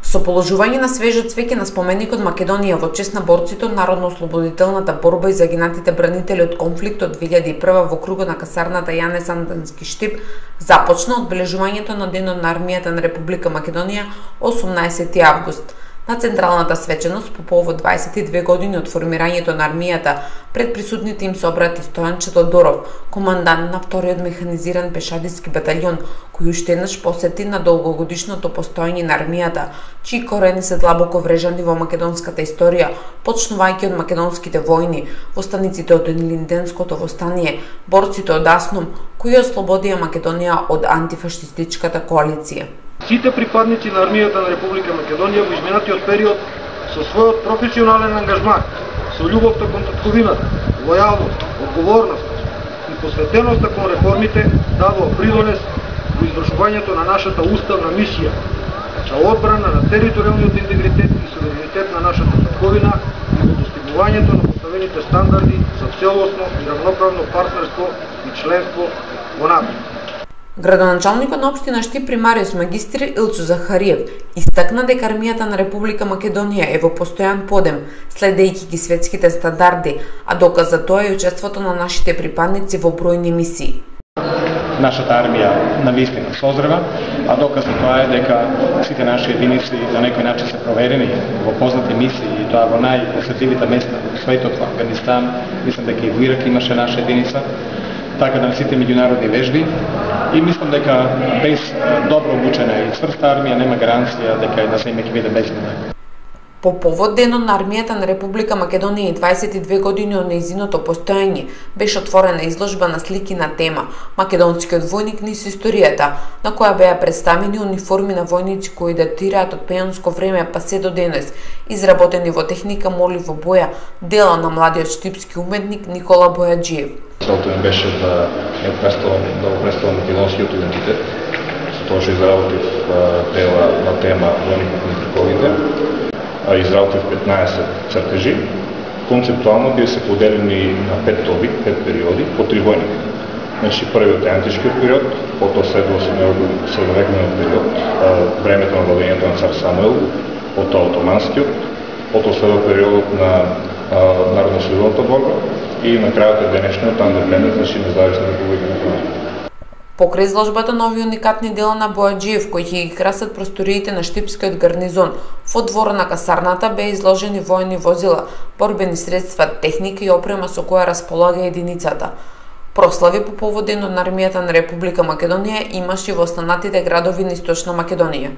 Со положување на свежо цвеќе на споменикот Македонија во чест на борците од народно-ослободителната борба и загинатите бранители од конфликтот 2001 во кругот на касарната Јане Сандански Штип започна одбележувањето на Денот на армијата на Република Македонија 18 август. На централната свеченост по повод 22 години од формирањето на армијата пред присутните им се обрати Стојанче Тодоров, командант на вториот механизиран пешадиски баталјон, кој уште еднаш посети на долгогодишното постоење на армијата, чии корени се длабоко врежани во македонската историја, почнувајќи од македонските војни, востаниците од Илинденското востание, борците од Аснум, кои ослободија Македонија од антифашистичката коалиција. Сите припадници на армијата на Република Македонија во изминатиот период со својот професионален ангажман, со љубовта кон татковината, лојалност, одговорност и посветеноста кон реформите дадоа придонес во извршувањето на нашата уставна мисија за одбрана на територијалниот интегритет и суверенитет на нашата татковина и во достигнувањето на поставените стандарди за целосно и равноправно партнерство и членство во НАТО. Градоначалникот на општина Штип примариус магистр Илчо Захариев истакна дека армијата на Република Македонија е во постојан подем, следејќи ги светските стандарди, а доказ за тоа е учеството на нашите припадници во бројни мисии. Нашата армија навистина созрева, а доказ за тоа е дека сите наши единици на некој начин се проверени во познати мисии и тоа во најосетливите места во светот, во Афганистан, мислам дека и во Ирак имаше наша единица, така да на сите меѓународни вежби и мислам дека без добро обучена и цврста армија нема гаранција дека една земја ќе биде безбедна. По повод Денот на армијата на Република Македонија и 22 години од нејзиното постоење беше отворена изложба на слики на тема Македонскиот војник низ историјата, на која беа представени униформи на војници кои датираат од пеонско време па се до денес, изработени во техника моливо боја, дела на младиот штипски уметник Никола Бојаджиев. Целта ми беше да представам македонскиот идентитет, со тоа што изработив дела на тема војникот низ вековите, изработив 15 цртежи. Концептуално би се поделени на 5 тоби, 5 периоди, по 3 војника. Значи, првиот е античкиот период, потоа следува средновековниот период, времето на владењето на цар Самуил, потоа отоманскиот, потоа следува периодот на народно-ослободителната борба и на крајот е денешниот андепендент, значи независна република Македонија. Покрај изложбата на овие уникатни дела на Бојаджиев, кои ќе ги красат просториите на Штипскиот гарнизон, во двора на касарната беа изложени воени возила, борбени средства, техника и опрема со која располага единицата. Прослави по повод Денот на армијата на Република Македонија имаше во останатите градови на Источна Македонија.